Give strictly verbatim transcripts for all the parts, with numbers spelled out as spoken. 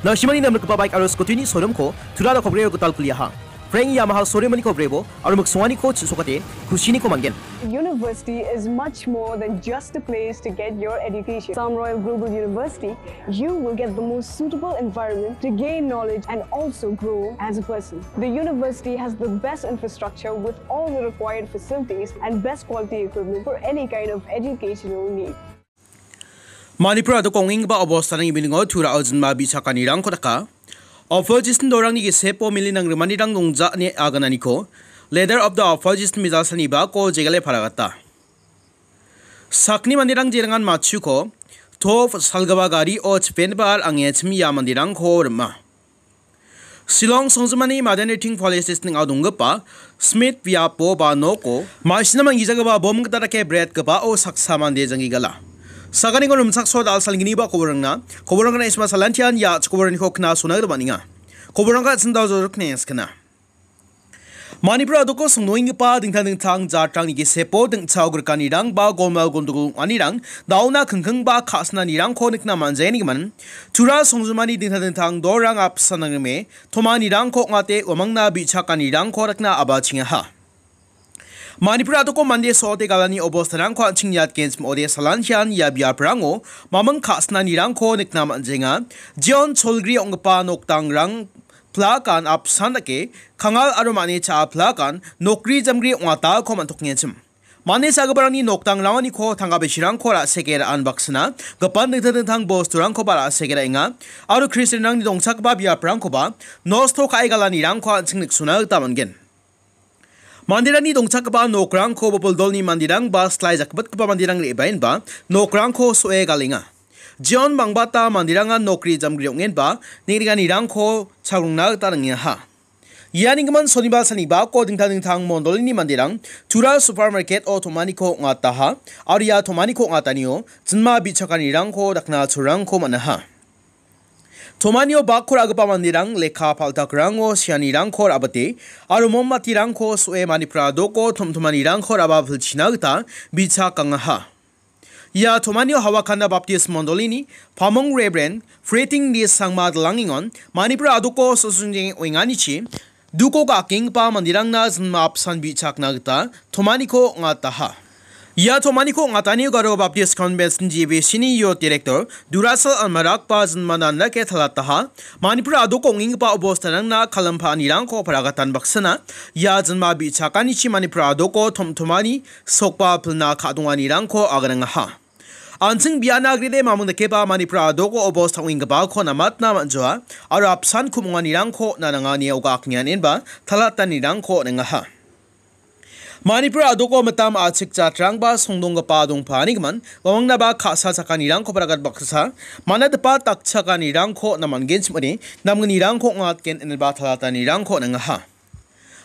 Nasimani namrikgipa baik aro scooty-ni showroom-ko Tura Rokhobrio gital kuliaha. Frank Yamaha showroom-aniko brebo aro miksonganiko chisokate kusiniko man·gen. University is much more than just a place to get your education. Assam Royal Global University, you will get the most suitable environment to gain knowledge and also grow as a person. The university has the best infrastructure with all the required facilities and best quality equipment for any kind of educational need. Manipur a·doko ong·enggipa obostarangni biningo Tura-o jinma bi·chakanirangko daka. Opposition dolrangni gisepo mili nangrimanirang dongja ine agananiko Leader of the Opposition mijalsani bako jegale paragata. Sakni manderang jerangan matchuko, to salgipa gario chipenba al ange chimia manderangko rima. Shillong songjinmani Madanriting Police Station ning·o donggipa Smith biapo ba noko ma·sina manggijagipa bom gita dake bretgipao saksa mande janggi gala. Saganiko rimchaksoa dal·salgniba koborangna, koborangna isma salantian ia chikoboraniko knasona gita man·enga. Koborangka sindao jorok nengskana. Manipur a·doko songdoenggipa dingtang dingtang jatrangni gisepo dingchao grikanirang ba golmal gondogol ong·anirang dauna kingking ba ka·sinanirangko nikna man·jaenigmin, Tura songjinmani dingtang dingtang dolrang apsan nangrime tomanirangko ong·ate uamangna bi·chakanirangko rikna abachengaha. Manipur a·doko mande so·ote galani obostarangko an·ching niatgenchim ode salantian ia biaprango maming ka·sinanirangko nikna man·jenga. Jeon Cholgri ong·gipa nokdangrang plakan apsan dake, kangal aro mane cha·a plakan nokri jamgri ong·atako man·tokengachim. Mande cha·giparangni nokdangrangoniko tangka bisirangko ra·seke ra·an baksana, gipan dingtang dingtang bosturangkoba ra·seke ra·enga, aro Kristianrangni dongchakgipa biaprangkoba nosto ka·e galanirangko an·ching niksona gita man·gen. Manderangni dongchakgipa nokrangko bopoldolni manderang ba slai jakbitgipa manderang re·baenba nokrangko so·e galenga. Jeon bangbata manderangan nokri jamgri ong·enba neng·riganirangko chagrongna gita ringaha. Ianigimin soniba salni bako dingtang dingtang mondolini manderang Tura supermarket-o tomaniko ong·ataha, aro ia tomaniko ong·atanio jinma bi·chakanirangko dakna cholrangko man·aha. Tomanio bakko ra·gipa manderang lekka paltakrango seanirangko ra·bite aro mombatirangko so·e Manipur a·doko tomtomanirangko ra·ba pilchina gita bichak angaha. Ia tomanio Hawakanda Baptist Mondolini Pamong Reverend Freting D Sangma Dalangingon Manipur a·doko sosungjeng oenganichi duko ga·akenggipa manderangna jinma apsan bi·chakna gita tomaniko ong·ataha. Ia tomaniko ong·atanio Garo Baptist Convention G B C-ni Youth Director Durasal Almarakba jinma nandake talataha. Manipur a·doko ong·enggipa obostarangna kalimpa anirangko paragatan baksana ia jinma bi·chakanichi Manipur a·doko tomtomani sokba pilna ka·donganirangko aganangaha. An·ching biana agrede mamung dakeba Manipur a·doko obos tang·enggipako namatna man·joa aro apsan kumonganirangko nanangani oga aknianenba talatanirangko on·engaha. Manipur a·doko mitam a·chik jatrangba songdonggipa dongpanigimin, uamangna ba ka·sa chakanirangko paragat baksa, mana dipa dakchakanirangko namangenchim ine namgnirangko ong·atgen ineba talatanirangko on·engaha.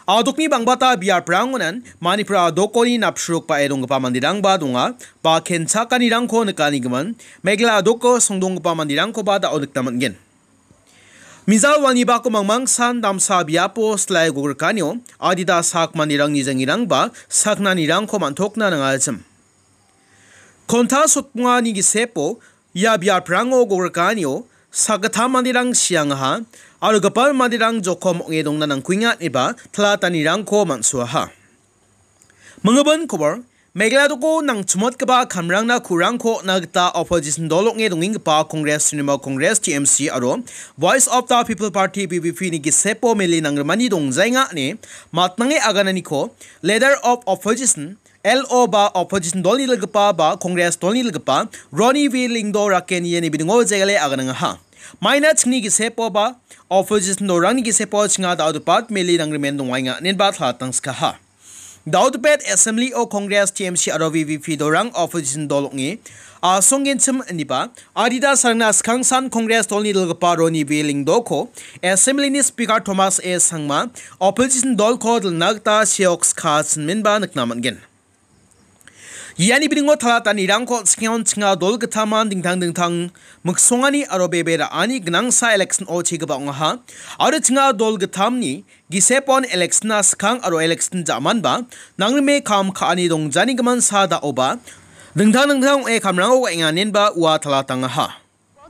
A·dokni bangbata biaprangonan Manipur a·dokoni napsrukbae donggipa manderangba donga, ba kenchakanirangko nikanigimin, Meghalaya a·doko songdonggipa manderangkoba da·o nikna man·gen. Mijal walni bako mangmangsan damsa biapo silai gogrikanio adita sak manderangni jangirangba saknanirangko man·tokna nangachim. Konta sotbongani gisepo ia biaprango gogrikanio sakgittam manderang siangaha aro gipal manderang jokom ong·e dongna nangkuenga ineba talatanirangko man·suaha. Mingibin kobor, Meghalaya a·doko nangchimotgipa kamrangna ku·rangko on·na gita opposition dol ong·e dongenggipa Congress, Trinamool Congress, T M C aro Voice of the People Party, V P P ni gisepo mele nangrimani dongjaenga ine matnange agananiko Leader of Opposition, L O ba opposition dolni dilgipa ba Congress dolni dilgipa Ronnie V Lyngdoh raken iani bidingo jegale aganangaha. Maina chingni gisepo ba opposition dolrangni gisepo chinga da·o dipat mele nangrimen dongaenga ineba talatangskaha. Da·o dipet Assembly o Congress, T M C aro V P P dolrang opposition dol ong·e asonggenchim ineba adita sarangna skangsan Congress dolni dilgipa Ronnie V Lyngdohko Assembly ni Speaker Thomas A Sangma opposition dolko dilna gita seok skachinmenba nikna man·gen. Iani bidingo talatanirangko chikengon chinga dol gitaman dingtang dingtang miksongani aro bebe ra·ani gnangsa election o chegipa ong·aha. Aro chinga dol gitamni gisepon election-na skang aro election ja·manba nangrime kam ka·ani dongjani gimin sa da·oba dingtang dingtang ong·e kamrango enganenba ua talatangaha.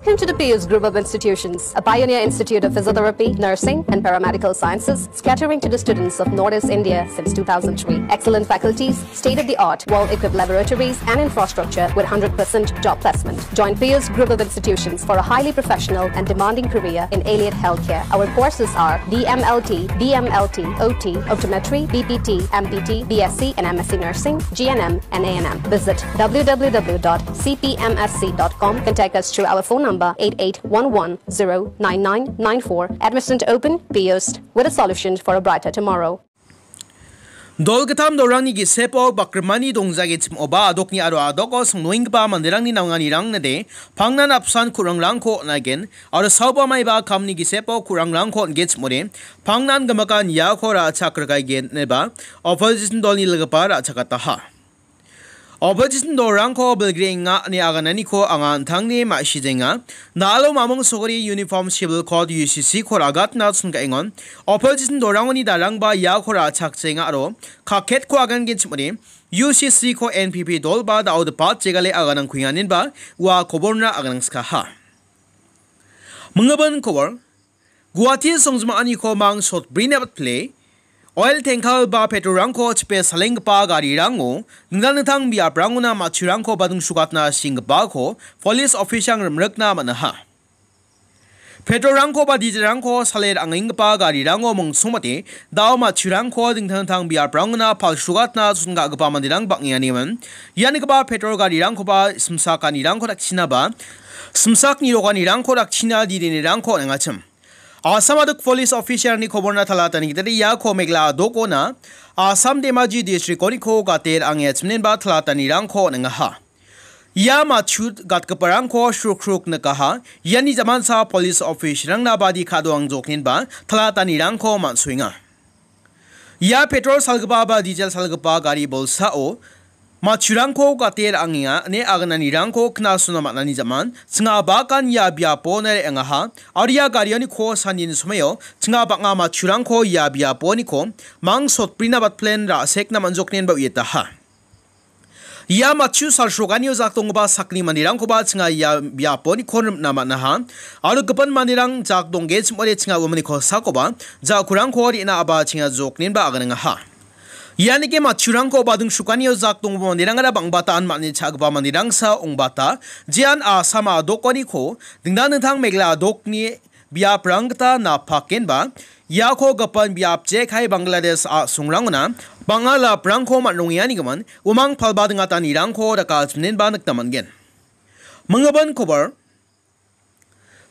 Welcome to the Pius Group of Institutions, a pioneer institute of physiotherapy, nursing, and paramedical sciences, catering to the students of Northeast India since two thousand three. Excellent faculties, state-of-the-art, well-equipped laboratories, and infrastructure with hundred percent job placement. Join Pius Group of Institutions for a highly professional and demanding career in allied healthcare. Our courses are D M L T, B M L T, O T, optometry, B P T, M P T, B S C, and M S C nursing, G N M, and A N M. Visit W W W dot C P M S C dot com. Contact us through our phone number eight eight one one zero nine nine nine four. Admission open, Pius, with a solution for a brighter tomorrow. Dolgitam dolrangni gisepo bakrimani dongjagechim oba adokni aro adoko songnoenggipa manderangni nanganirang nade pangnan apsan kurangrangko on·aigen aro saoba maiba kamni gisepo kurangrangko on·gechimode pangnan gimikan iako ra·chak rikaigen ineba opposition dolni ligipa ra·chakataha. Opposition dolrangko bilgrenga ine agananiko anga an·tangni ma·sijenga. Nalo mamung sogri uniform civil code U C C ko ragatna chonga·engon. Opposition dolrangoni darangba iako ra·chakjenga aro kaketko agangenchimode U C C ko N P P dolba da·o dipat jegale aganangkuenganinba ua koborna aganangskaha. Minggimin kobor. Guwahati songjim a·aniko mangsotbrina batpile, oil tanker ba petrolrangko chipe salenggipa garirango dingtang dingtang biaprangona matchurangko badingsugatna sringgipako police officerang rimrikna man·aha. Petrolrangko ba dieselrangko sale ra·angenggipa garirango mongsongmate dao matchurangko dingtang dingtang biaprangona palsugatna chonga·gipa manderang bang·enganiman. Ianigipa petrol garirangkoba simsak ganirangko dakchinaba, simsak niroganirangko dakchina direnirangko on·engachim. Assam adok police officerni koborna talatani gitade iako Meghalaya dokona Assam Dhemaji districtoniko gate ra·angengachimnenba talatanirangko on·engaha. Ia matchu gatgiparangko srukruk nikaha. Iani jamansa police officerangna badi ka·doangjoknenba talatanirangko man·soenga. Ia petrol salgipa ba diesel salgipa gari bolsao matchurangko gate ra·angenga ine agananirangko knasona man·ani jaman, chinga bakan ia biapo re·angaha, aro ia garianiko sanini somoio chinga bang·a matchurangko ia biaponiko mangsotbrina batplen ra·sekna man·joknenba uiataha. Ia matchu salsroganio jak donggipa sakni manderangkoba chinga ia biaponi kon rimna man·aha. Aro gipin manderang jak dongge chim·ode chinga uamani kosakoba jakurangko re·na aba chinga joknenba aganengaha. Ianike matchurangko badingsukanio jak donggipa manderangara bang·bata an man·e cha·gipa manderangsa ong·bata. Jean Assam a·dokoniko dingtang dingtang Meghalaya a·dokni biaprang gita napakenba, iako gipin biap jekai Bangladesh a·songrangona bang·a laprangko man·rongenganigimin, umang palba dingatanirangko dakachimnenba nikna man·gen. Minggimin kobor,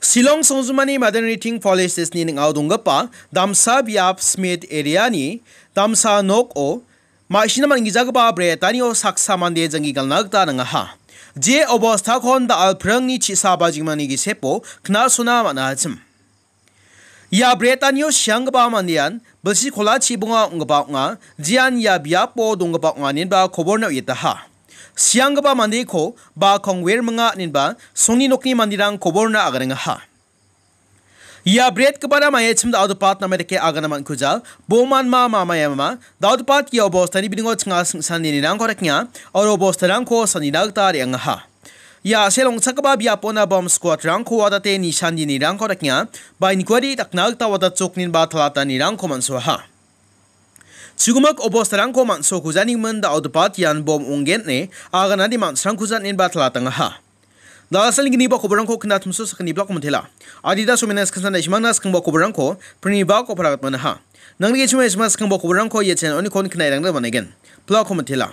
Shillong songjinmani Madanriting Police Station-ni ning·ao donggipa damsa biap Smith area-ni damsa noko ma·sina man·gijagipa bretanio saksa mande janggi galna gita nangaha. Je obostakon da·al pringni chisa bajimani gisepo knasona man·achim. Ia bretanio sianggipa mandean bilsi kola chibonga ong·gipa ong·a, jean ia biapo donggipa ong·a inenba koborna uiataha. Sianggipa mandeko ba kongwer minga inenba songni nokni manderang koborna agarengaha. Ia bretgipara maiachim da·odepat name dake agana man·kuja, bomanma mamayama, da·odepat ia obostani biningo chinga singsan ninirangko dakenga, aro bostarangko sanina gita re·angaha. Ia a·sel ong·chakgipa biapona bom squad-rangko wadate nisan ninirangko dakenga, ba inquiry dakna gita wadatchokninba talatanirangko man·soaha. Chigimik obostarangko man·sokujanigimin da·odepat ian bom ong·gen ine aganani man·srangkuja inenba talatangaha. Dal·a salni gniba koborangko knatimso sakgni blako mitela. Adita somena skangsan daishimangna skangba koborangko prini bako paragat manaha. Nangni gichima isma skangba koborangko ia channel onikon knairangna manaigen. Blako mitela.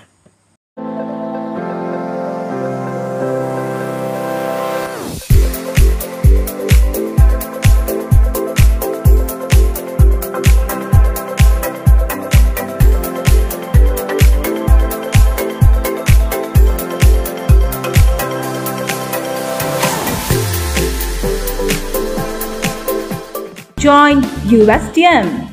Join U S T M.